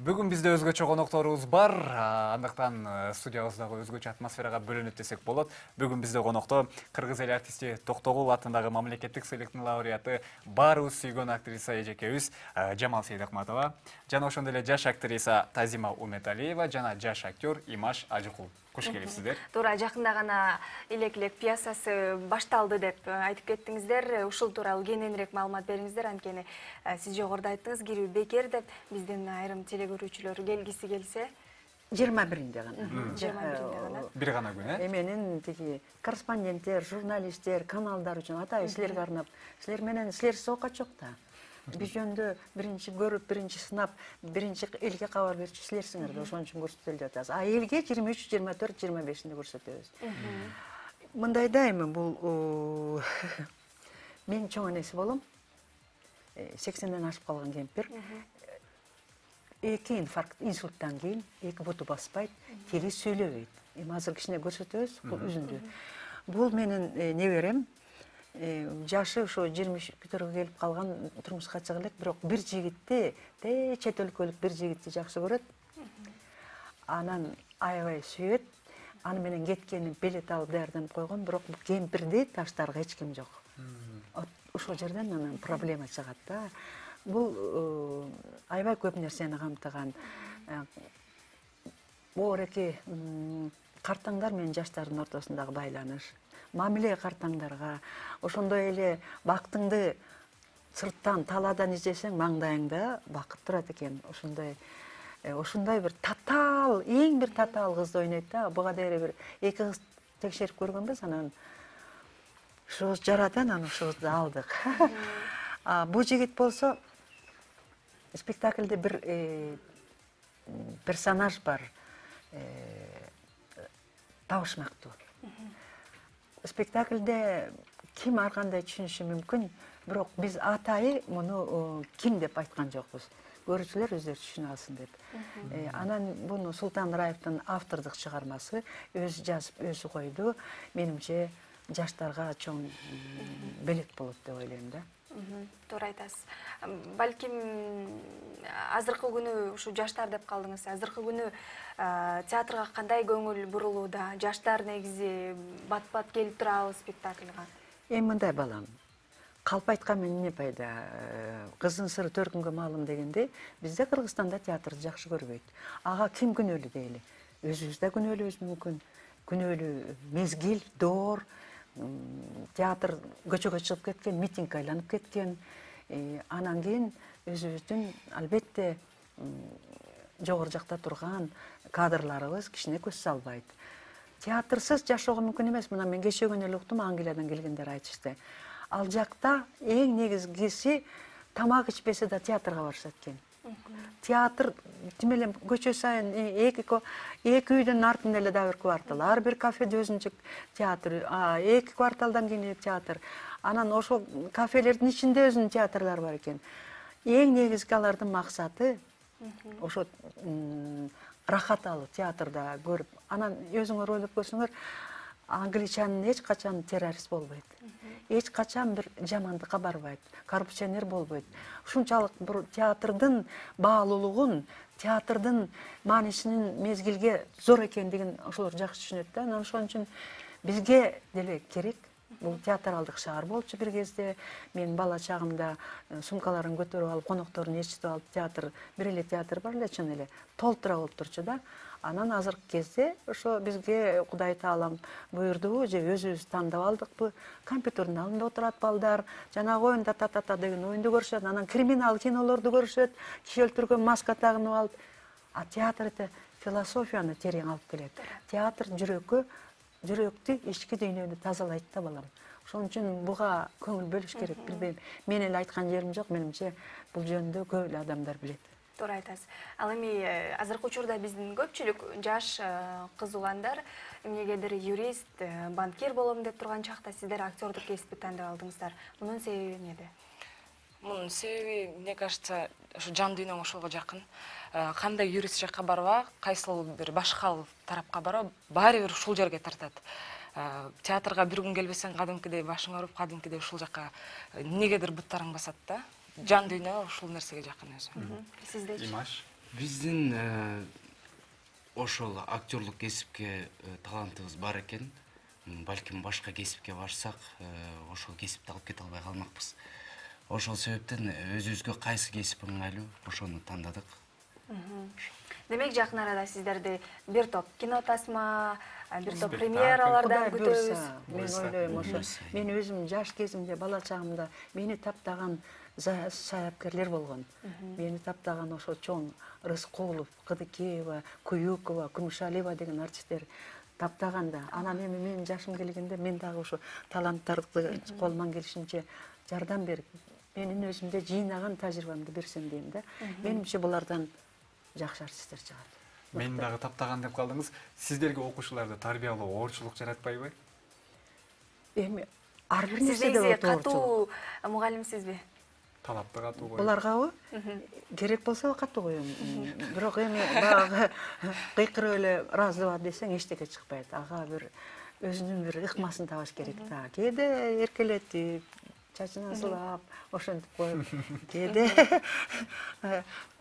Бүгүн бизде өзгөчө конокторубуз бар. Андыктан студиябыздагы өзгөчө атмосферага бөлөнөт десек болот. Бүгүн бизде конокто кыргыз эл артисти Токтогул атындагы мамлекеттик сыйлыктын лауреаты, баарыбыз сүйгөн актриса эжекебиз Жамал Сейдакматова, жана ошондой эле жаш актриса Тазима Уметалиева жана жаш актер Имаш Ажыкул. Кош келипсиздер. Туура жакында гана Илек-илек пьесасы башталды деп айтып кеттиңиздер. Ушул тууралуу кененирээк маалымат бериңиздер, анткени сиз жогоруда айттыңыз, кирүү бекер деп. Биздин айрым телекөрүүчүлөр келгиси келсе 21-нде гана. 21-нде гана. Бир гана күн, Менин тиги корреспонденттер, журналисттер, каналдар үчүн атайын силерге арнап, силер менен силерсиз окат жок да. Биз жөнүндө биринчи көрүп, биринчи сынап, биринчи элге кабар берчү силерсиңер да, ошон үчүн көрсөтөлүп атабыз. А элге 23, 24, 25-нде көрсөтөбүз. Мындайда эми бул мен чоң энеси болом. 80ден ашып калган кемпир. 2 инфаркт, инсульттан кийин 2 буту баспайт, тили сүйлөбөйт. Эми азыр кичине көрсөтөбүз үзүндү. Бул менин неберем. Жашы ошо 20 көтөргө келип калган, турмушка чыга элек, бирок бир жигитти, чет өлкөлүк бир жигитти жакшы көрөт. Анан аябай сүйөт. Аны менен кеткени билет алып даярданып койгон, бирок бул кемпирди таштарга эч ким жок. Ошол жерден анан проблема чыгат да. Бул аябай көп нерсени камтыган. Оореки картаңдар менен жаштардын ортосундагы байланыш. Мамиле картаңдарга, ошондой эле бактыңды сырттан талаадан издесең, маңдайыңда бакыт турат экен. Ошондой бир татаал, эң бир татаал кызды ойнойт да. Буга дейре бир 2 кыз текшерип көргөнбүз, анан ушубуз жарат, анан ушубузду алдык. Бул жигит болсо спектакльде бир персонаж бар. Табышмактуу. Спектакльде ким ар кандай түшүнүшү мүмкүн, бирок биз атайы муну ким деп айткан жокпуз. Көрүүчүлөр өздөрү түшүнө алсын деп. Анан буну Султан Раевдин автордук чыгармасы, өзү жазып, өзү койду. Менимче жаштарга чоң белек болот деп ойлойм да. Туура айтасыз. Балким азыркы күнү ушу жаштар деп калдыңыз. Азыркы күнү театрга кандай көңүл бурулууда? Жаштар негизи бат-бат келип турабы спектакльга? Эми мындай балам. Калп айткан эмне пайда? Кыздын сыры төркүнгө маалым дегенде, бизде Кыргызстанда театрды жакшы көрбөйт. Ага ким күнөөлүү дейли? Өзүбүз да күнөөлүүбүз мүмкүн. Күнөөлүү мезгил, доор, театр көчөгө чыгып кеткен, митинг айланып кеткен. Анан кийин өзүбүздүн албетте жогору жакта турган кадрларыбыз кичине көз салбайт. Театрсыз жашоого мүмкүн эмес. Мына мен кечөгөн эле уктум, Англиядан келгендер айтышты. Ал жакта эң негизгиси тамак ичпесе да театрга барышат экен. Театр тим эле көчө сайын эки үйдүн артында эле да бир квартал, ар бир кафеде өзүнчө театр, 2 кварталдан кийин эле театр. Анан ошол кафелердин ичинде өзүнүн театрлары бар экен. Эң негизги алардын максаты ошо рахат алуу, театрда көрүп. Анан өзүңөр ойлоп көрсөңөр, англичанин эч качан террорист болбойт. Эч качан бир жамандыкка барбайт, коррупционер болбойт. Ушунчалык бир театрдын баалуулугун, театрдын маанисинин мезгилге зор экендигин ошолор жакшы түшүнөт да. Анан ошон үчүн бизге деле керек. Бул театралдык шаар болчу бир кезде. Мен бала чагымда сумкаларын көтөрүп алып, конокторун ээрчитип алып, театр, бир эле театр бар эле, чын эле толтура болуп турчу да. Анан азыркы кезде ошо бизге Кудай Таалам буйрдубу же өзүбүз тандап алдыкпы? Компьютердин алдында отурат балдар, жанагы оюнда та-та-та деген оюнду көрүшөт, анан криминал кинолорду көрүшөт, киши өлтүргөн маска тагынып алып. А театр философияны терең алып келет. Театр жүрөктү, ички дүйнөнү тазалайт да балам. Ошон үчүн буга көңүл бөлүш керек. Билбейм, мен эле айткан жерим жок, менимче бул жөнүндө көп эле адамдар билет. Туура айтасыз. Ал эми азыркы учурда биздин көпчүлүк жаш кыз уландар эмнегедир юрист, банкир болом деп турган чакта сиздер актёрдук кесипти тандап алдыңыздар. Мунун себеби эмнеде? Мунун себеби, мне кажется, ошо жан дүйнөң ошого жакын. Кандай юрист жакка барба, кайсыл бир башка тарапка барба, баары бир ушул жерге тартат. Театрга бир күн келбесең, кадимкидей башың ооруп, кадимкидей ушул жакка эмнегедир буттарың басат да. Жан дүйнө ушул нерсеге жакын өзү. Сиздечи? Имаш. Биздин ошол актерлук кесипке талантыбыз бар экен. Балким башка кесипке барсак, ошол кесипти алып кете албай калмакпыз. Ошол себептен өзүбүзгө кайсы кесип ыңгайлуу, ошону тандадык. Демек жакын арада сиздерди бир топ кино тасма, бир топ премьералардан күтөбүз. Мен ойлойм ошо. Мен өзүм жаш кезимде, бала чагымда мени таптаган саяпкерлер болгон. Мени таптаган ошо чоң Рыскулов, Кыдыкеева, Куюкова, Кумушалиева деген артисттер таптаганда. Анан эми менин жашым келгенде мен дагы ошо таланттарды колуман келишинче жардам берип, менин өзүмдө жыйнаган тажрыйбамды берсем дейм да. Менимче булардан жакшы артисттер чыгат. Мен дагы таптаган деп калдыңыз. Сиздерге окуучуларды тарбиялоо оорчулук жаратпайбы? Эми ар бир Сиз нерседе катуу мугалимсизби? Талапты катуу коюп. Буларгабы? Керек болсо катуу коем. Бирок эми баягы кыйкырып эле разыба десең эчтеке чыкпайт. Ага бир өзүнүн бир ыкмасын табыш керек да. Кээде эркелетип, чачына сылап, ошентип коюп, кээде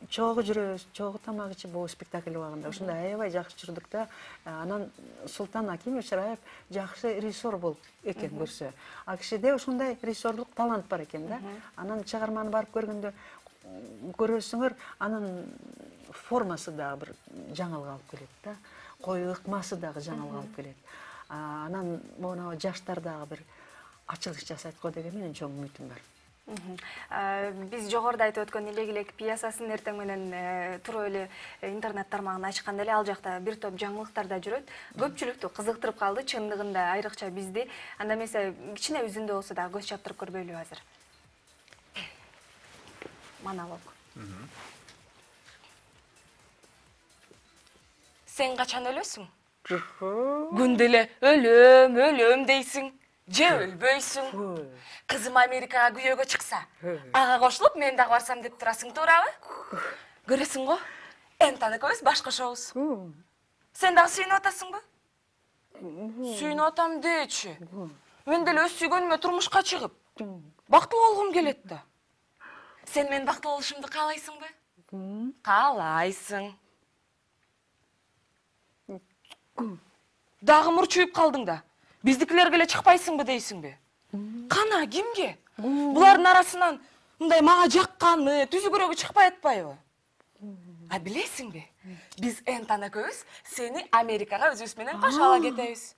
чогуу жүрөбүз, чогуу тамак ичип бул спектакль убагында. Ушундай аябай жакшы жүрдүк да. Анан Султан Акимович Раев жакшы режиссер болуп экен көрсө. А кишиде ушундай режиссерлук талант бар экен да. Анан чыгарманы барып көргөндө көрөсүңөр, анын формасы дагы бир жаңылык алып келет да. Кою ыкмасы дагы жаңылык алып келет. Анан могу жаштар дагы бир ачылыш жасайт го деген менин чоң үмүтүм бар. Биз жогоруда айтып өткөн Илек пьесасын эртең менен туруп эле интернет тармагын ачканда эле ал жакта бир топ жаңылыктар да жүрөт. Көпчүлүктү кызыктырып калды, чындыгында айрыкча бизди. Анда эмесе кичине үзүндө болсо да көз чаптырып көрбөйлүбү азыр? Монолог. Сен качан өлөсүң? Күндө эле өлөм, өлөм дейсиң. Же өлбөйсүң. Кызым Америкага күйөөгө чыкса, ага кошулуп мен дагы барсам деп турасың, туурабы? Көрөсүң го, Энтан экөөбүз баш кошобуз. Сен дагы сүйүнүп атасыңбы? Сүйүнүп атам дечи. Мен деле өз сүйгөнүмө турмушка чыгып, бактылуу болгум келет да. Сен мен бактылуу болушумду каалайсыңбы? Каалайсың. Дагы мурчуюп калдың да. Биздикилерге эле чыкпайсыңбы дейсиңби? Кана кимге? Булардын арасынан мындай мага жакканы, түзүгүрөгү чыкпай атпайбы? А билесиңби? Биз Энтан экөөбүз сени Америкага өзүбүз менен кошо ала кетебиз.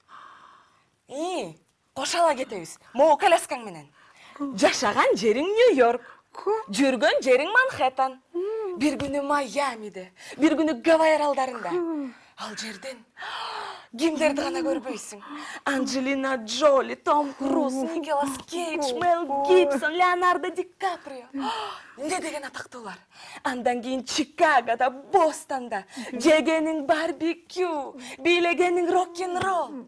Кошо ала кетебиз. Могу коляскаң менен. Жашаган жериң Нью-Йорк, жүргөн жериң Манхэттен. Бир күнү Майамиде, бир күнү Гавайи аралдарында. Ал жерден кимдерди гана көрбөйсүң? Анджелина Джоли, Том Круз, Николас Кейдж, Мел Гибсон, Леонардо Ди Каприо. Эмне деген атактуулар. Андан кийин Чикагода, Бостонда жегениң барбекю, бийлегениң рок-н-ролл.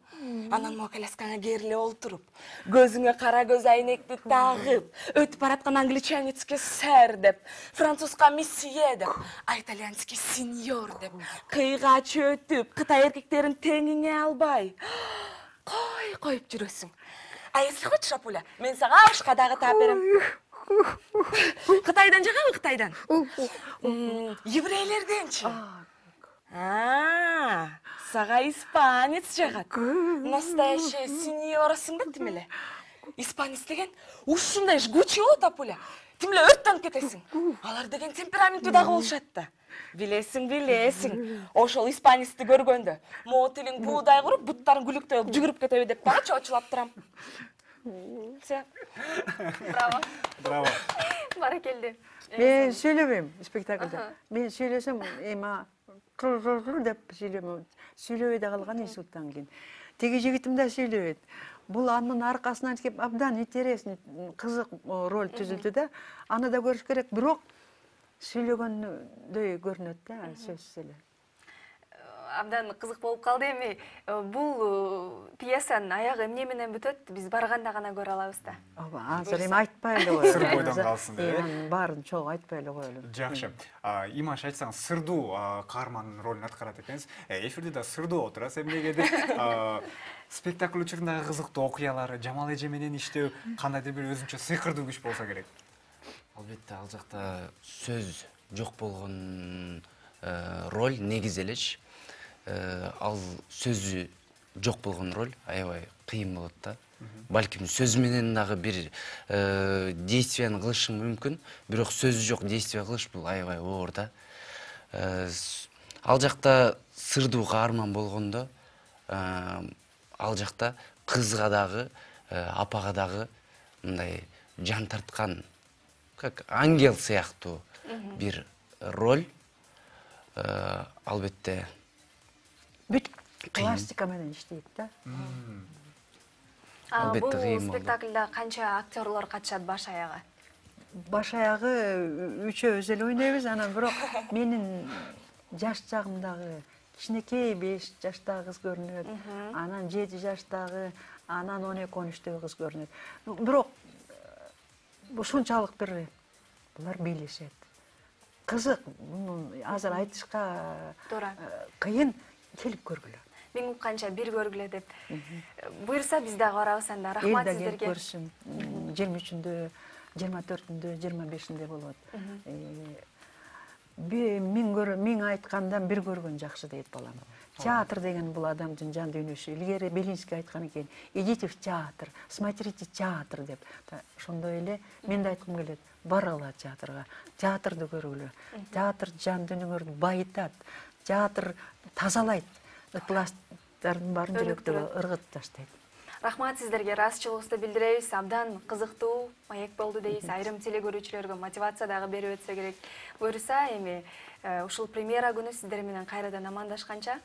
Анан могу коляскаңа кериле олтуруп, көзүңө кара көз айнекти тагып, өтүп бараткан англичанецке сэр деп, французга месье деп, итальянский сеньор деп, кыйгач өтүп, Кытай эркектерин теңиңе албай коюп жүрөсүң. А если хочешь, Апуля, мен сага ашка дагы таап берем. Кытайдан жагабы, Кытайдан? Еврейлерденчи? Сага испанец жагат. Настоящая сеньорасың да тим эле. Испанец деген ушундай жгучий болот, Апуля. Тим эле өрттөнүп кетесиң. Алар деген темпераменттүү дагы болушат да. Билесиң. Ошол испанецти көргөндө, могу тилиң буудай куруп, буттарың күлүктөп жүгүрүп кетеби деп дагы чоочулап турам. Все. Браво. Баракелде. Мен сүйлөбөйм спектакльде. Мен сүйлөсөм, деп сүйлөбөй да калган институттан кийин. Теги жигитим да сүйлөбөйт. Бул анын аркасынан кеп абдан интересный, кызык роль түзүлдү да. Аны да көрүш керек, бирок сүйлөгөндөй көрүнөт да, сөзсүз эле. Абдан кызык болуп калды. Эми бул пьесанын аягы эмне менен бүтөт? Биз барганда гана көрө алабыз да. Ооба, азыр эми айтпай эле коелу. Сыр бойдон калсын деп. Анын баарын чогуу айтпай эле коелу. Жакшы. Имаш айтсаң, сырдуу каармандын ролун аткарат экенсиз. Эфирде да сырдуу отурасыз эмнегедир. Спектакль учурундагы кызыктуу окуялары, Жамал эже менен иштөө кандайдыр бир өзүнчө сыйкырдуу күч болсо керек. Албетте, ал жакта сөз жок болгон роль негизи элечи. Ал сөзү жок болгон роль аябай кыйын болот да. Балким сөз менен дагы бир действияны кылышың мүмкүн, бирок сөзү жок действия кылыш бул аябай оор да. Ал жакта сырдуу каарман болгондо, ал жакта кызга дагы, апага дагы мындай жан тарткан, как ангел сыяктуу бир роль. Албетте бүт пластика менен иштейт да. Албетте Бул кыйын болду. спектаклда канча актерлор катышат баш аягы? Баш аягы үчөөбүз эле ойнойбуз, анан бирок менин жаш чагымдагы кичинекей 5 жаштагы кыз көрүнөт, анан 7 жаштагы, анан 12-13 кыз көрүнөт. Бирок ушунчалык бир булар бийлешет. Кызык, азыр айтышка Туура. кыйын, келип көргүлө. Мен укканча бир көргүлө деп. Буюрса биз дагы барабыз анда. Рахмат Эл да келип сиздерге. көрсүн. 23-үндө, 24-үндө, 25-инде болот. Миң айткандан бир көргөн жакшы дейт балам. Театр деген бул адамдын жан дүйнөсү. Илгери Белинский айткан экен, идите в театр, смотрите театр деп. Ошондой эле мен да айткым келет, баргыла театрга, театрды көргүлө. Театр жан дүйнөңөрдү байытат, театр тазалайт, пласттардын баарын жүрөктөгө ыргытып таштайт. Рахмат сиздерге, ыраазычылыгыбызды билдиребиз. Абдан кызыктуу маек болду дейбиз. Айрым телекөрүүчүлөргө мотивация дагы берип өтсө керек. Буюрса эми ушул премьера күнү сиздер менен кайрадан амандашканча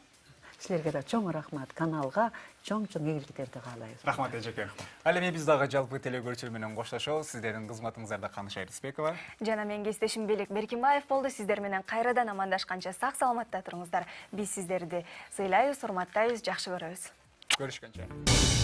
Силерге да чоң рахмат, каналга чоң-чоң ийгиликтерди каалайбыз. Рахмат эжеке. Ал эми биз дагы жалпы телекөрүүчүлөр менен коштошобуз. Сиздердин кызматыңыздарда Каныш Айрыспекова жана мен кесиптешим Белек Беркимбаев болду. Сиздер менен кайрадан амандашканча сак саламатта туруңуздар. Биз сиздерди сыйлайбыз, урматтайбыз, жакшы көрөбүз. көрүшкөнчө.